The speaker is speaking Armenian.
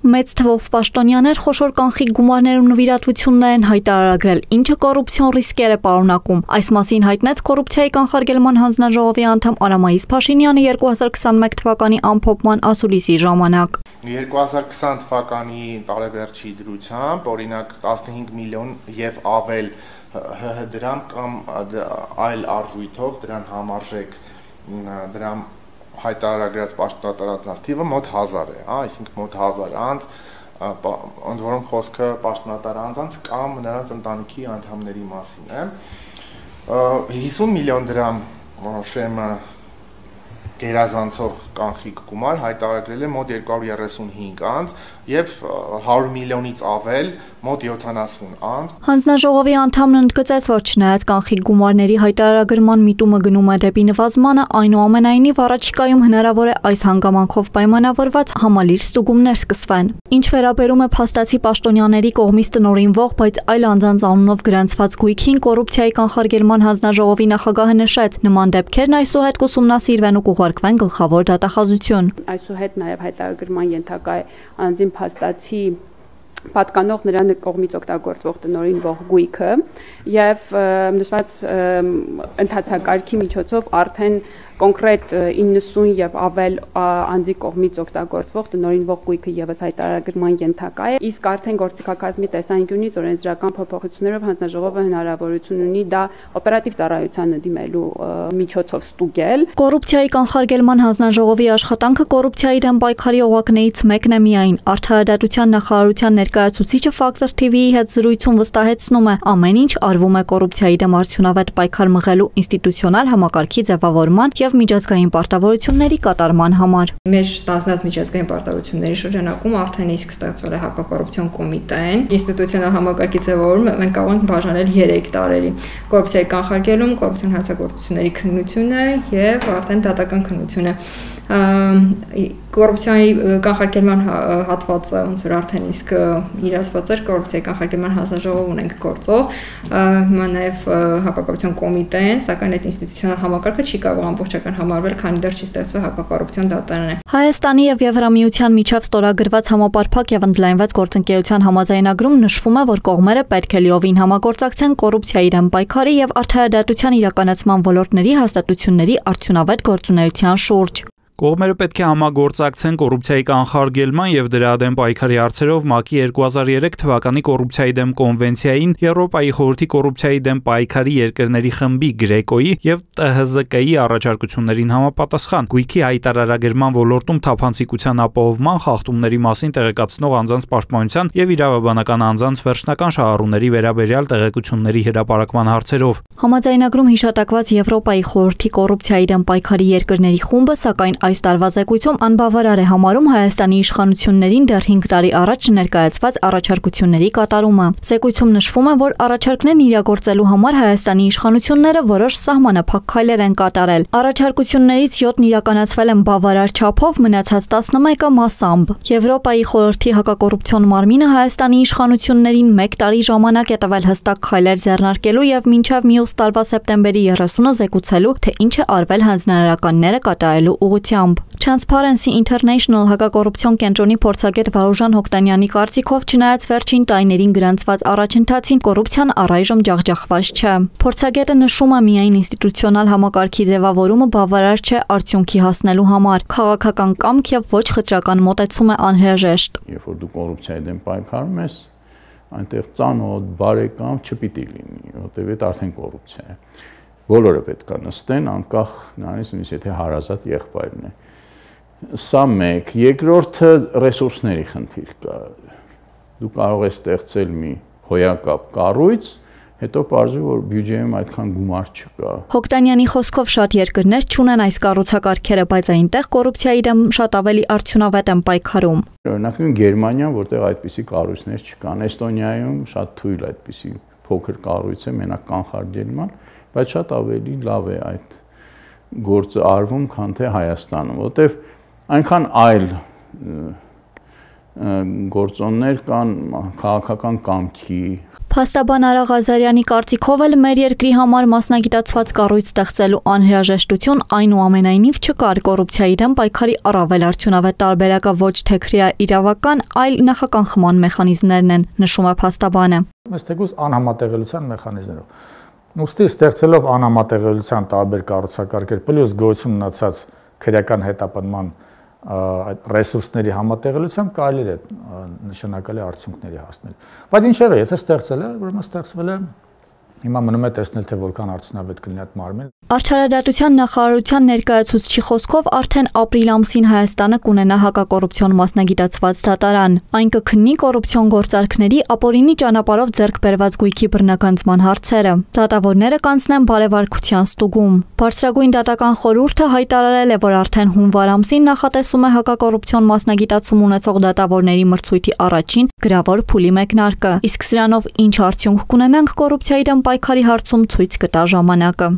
Մեծ թվով պաշտոնյաներ խոշոր կանխիկ գումարներ ու նվիրատվություններ են հայտարարել, ինչը կոռուպցիոն ռիսկեր է պարունակում։ Այս մասին հայտնեց կոռուպցիայի կանխարգելման հանձնաժողովի անդամ Արամայիս Փաշինյանը 2021 թվականի ամփոփման ասուլիսի ժամանակ։ 2020 թվականի տարեվերջի դրությամբ, օրինակ 15 միլիոն եւ ավել ՀՀ դրամ կամ այլ արժույթով դրան համարժեք դրամ հայտարարագրած պաշտոնատարանց թիվը մոտ 1000 է, այսինքն մոտ 1000 անձ, ընդ որում խոսքը պաշտոնատար անձանց կամ նրանց ընտանիքի անդամների մասին է։ 50 միլիոն դրամ շեմը գերազանցող կանխիկ գումար հայտարարել է մոտ 235 անձ եւ 100 միլիոնից ավել մոտ 70 անձ։ Հանձնաժողովի անդամն ընդգծեց, որ չնայած կանխիկ գումարների հայտարարագրման միտումը գնում է դեպի նվազմանը, այնուամենայնիվ առաջիկայում հնարավոր է այս հանգամանքով պայմանավորված համալիր ստուգումներ սկսվեն։ Ինչ վերաբերում է փաստացի պաշտոնյաների կողմից տնօրինվող, բայց այլ անձանց անունով գրանցված գույքին, կոռուպցիայի կանխարգելման հանձնաժողովի նախագահը նշեց, նման դեպքերն այսուհետ կուսումնասիրվեն ու կուղարկվեն գլխավոր դատախազություն։ Այսուհետ նաև հայտարարագրման ենթակա է անձին փաստացի պատկանող նրան կողմից օգտագործվող տնօրինվող գույքը եւ նշված ընթացակարգի միջոցով արդեն կոնկրետ 90 եւ ավել անձի կողմից օգտագործվող տնօրինվող գույքը եւս հայտարարագրման ենթակա է, իսկ արդեն գործիքակազմի տեսանկյունից օրենսդրական փոփոխություններով հանձնաժողովը հնարավորություն ունի դա օպերատիվ ծառայությանը դիմելու միջոցով ստուգել։ Կոռուպցիայի կանխարգելման հանձնաժողովի աշխատանքը կոռուպցիայի դեմ պայքարի օղակներից մեկն է միայն։ Արդարադատության նախարարության ներկայացուցիչը Factor TV-ի հետ զրույցում վստահեցնում է, ամեն ինչ արվում է կոռուպցիայի դեմ արդյունավետ պայքար մղելու ինստիտուցիոնալ համակարգի ձևավորման եւ միջազգային պարտավորությունների կատարման համար։ Մեր ստանձնած միջազգային պարտավորությունների շրջանակում արդեն իսկ ստեղծվել է հակակոռուպցիոն կոմիտեն։ Ինստիտուցիոնալ համակարգի ձևավորումը մենք կարող ենք բաժանել 3 տարերի՝ կոռուպցիայի կանխարգելում, կոռուպցիոն հանցագործությունների քննությունը եւ արդեն դատական քննությունը։ Կոռուպցիայի կանխարգելման հատվածը ոնց որ արդեն իսկ իրացված էր, կոռուպցիայի կանխարգելման հանձնաժողով ունենք գործող, հիմա նաև հակակոռուպցիոն կոմիտեն, սակայն այդ ինստիտուցիոնալ համակարգը չի կարող ամբողջական համարվել, քանի դեռ չի ստեղծվել հակակոռուպցիոն դատարանը։ Հայաստանի եւ Եվրամիության միջև ստորագրված համապարփակ եւ ընդլայնված գործընկերության համաձայնագրում նշվում է, որ կողմերը պետք է լիովին համագործակցեն կոռուպցիայի դեմ պայքարի եւ արդարադատության իրականացման ոլորտների հաստատությունների արդյունավետ գործունեության շուրջ։ Կողմերը պետք է համագործակցեն կոռուպցիայի կանխարգելման եւ դրա դեմ պայքարի հարցերով ՄԱԿ-ի 2003 թվականի կոռուպցիայի դեմ կոնվենցիային, Եվրոպայի խորհրդի կոռուպցիայի դեմ պայքարի երկրների խմբի Գրեկոյի եւ ՏՀԶԿ-ի առաջարկություններին համապատասխան գույքի հայտարարագրման ոլորտում թափանցիկության ապահովման, խախտումների մասին տեղեկացնող անձանց պաշտպանության եւ իրավաբանական անձանց վերջնական շահառուների վերաբերյալ տեղեկությունների հրապարակման հարցերով։ Համաձայնագրում հիշատակված Եվրոպայի խորհրդի կոռուպցիայի դեմ պայքարի երկրների խումբը, սակայն այս տարվա զեկույցում անբավարար է համարում Հայաստանի իշխանություններին դեռ 5 տարի առաջ ներկայացված առաջարկությունների կատարումը։ Զեկույցում նշվում է, որ առաջարկներն իրագործելու համար Հայաստանի իշխանությունները որոշ սահմանափակ քայլեր են կատարել։ Առաջարկություններից 7-ն իրականացվել են բավարար չափով, մնացած 11-ը մասամբ։ Եվրոպայի խորհրդի հակակոռուպցիոն մարմինը Հայաստանի իշխանություններին 1 տարի ժամանակ է տվել հստակ քայլեր ձեռնարկելու եւ մինչեւ մյուս տարվա սեպտեմբերի 30-ը զեկուցելու, թե ինչ է արվել հանձնարարականները կատարելու ուղղությամբ։ Transparency International հակակոռուպցիոն կենտրոնի փորձագետ Վարուժան Հոկտանյանի կարծիքով, չնայած վերջին տարիներին գրանցված առաջընթացին, կոռուպցիան առայժմ ջախջախված չէ։ Փորձագետը նշում է, միայն ինստիտուցիոնալ համակարգի ձևավորումը բավարար չէ արդյունքի հասնելու համար։ Քաղաքական կամք եւ ոչ խտրական մոտեցում է անհրաժեշտ։ Երբ որ դու կոռուպցիայի դեմ պայքարում ես, այնտեղ ծանոթ, բարեկամ չպիտի լինի, որտեղ այդ արդեն կոռուպցիա է։ Բոլորը պետք է նստեն, անկախ նրանից, նույնիսկ եթե հարազատ եղբայրն է։ Սա մեկ, երկրորդը ռեսուրսների խնդիր կա։ Դու կարող ես ստեղծել մի հոյակապ կառույց, հետո պարզվի, որ բյուջեում այդքան գումար չկա։ Հոկտանյանի խոսքով շատ երկրներ չունեն այս կառուցակարգերը, բայց այնտեղ կոռուպցիայի դեմ շատ ավելի արդյունավետ են պայքարում։ Օրինակ Գերմանիան, որտեղ այդպիսի կառույցներ չկան, Էստոնիայում շատ թույլ այդպիսի փոքր կառույց է, մենակ կանխարգելման, բայց շատ ավելի լավ է այդ գործը արվում, քան թե Հայաստանում, որտեղ այնքան այլ գործոններ կան քաղաքական կամքի։ Փաստաբան Արա Ղազարյանի կարծիքով էլ մեր երկրի համար մասնագիտացված կառույց ստեղծելու անհրաժեշտություն այնուամենայնիվ չկար կոռուպցիայի դեմ պայքարի առավել արդյունավետ տարբերակը ոչ թե քրեա իրավական, այլ նախականխման մեխանիզմներն են, նշում է փաստաբանը։ Մեզ թեկուզ անհամատեղելիության մեխանիզմներով։ Ուստի ստեղծելով անհամատեղելիության տարբեր կառուցակարգեր, պլյուս գոյություն ունեցած քրեական հետապնդման այդ ռեսուրսների համատեղելիությամբ կարելի է նշանակալի արդյունքների հասնել։ Բայց ինչևէ, եթե ստեղծել է, ուրեմն ստեղծվել է, հիմա մնում է տեսնել, թե որքան արդյունավետ կլինի այդ մարմինը։ Արդարադատության նախարարության ներկայացուցչի խոսքով արդեն ապրիլ ամսին Հայաստանը կունենա հակակոռուպցիոն մասնագիտացված դատարան։ Այն կքննի կոռուպցիոն գործարքների ապօրինի ճանապարհով ձեռք բերված գույքի բռնագանձման հարցերը։ Դատավորները կանցնեն բարեվարկության ստուգում։ Բարձրագույն դատական խորհուրդը հայտարարել է, որ արդեն հունվար ամսին նախատեսում է հակակոռուպցիոն մասնագիտացում ունեցող դատավորների մրցույթի առաջին գրավոր փուլի մեկնարկը։ Իսկ սրանով ինչ արդյունք կունենանք կոռուպցիայի դեմ պայքարի հարցում ցույց կտա ժամանակը։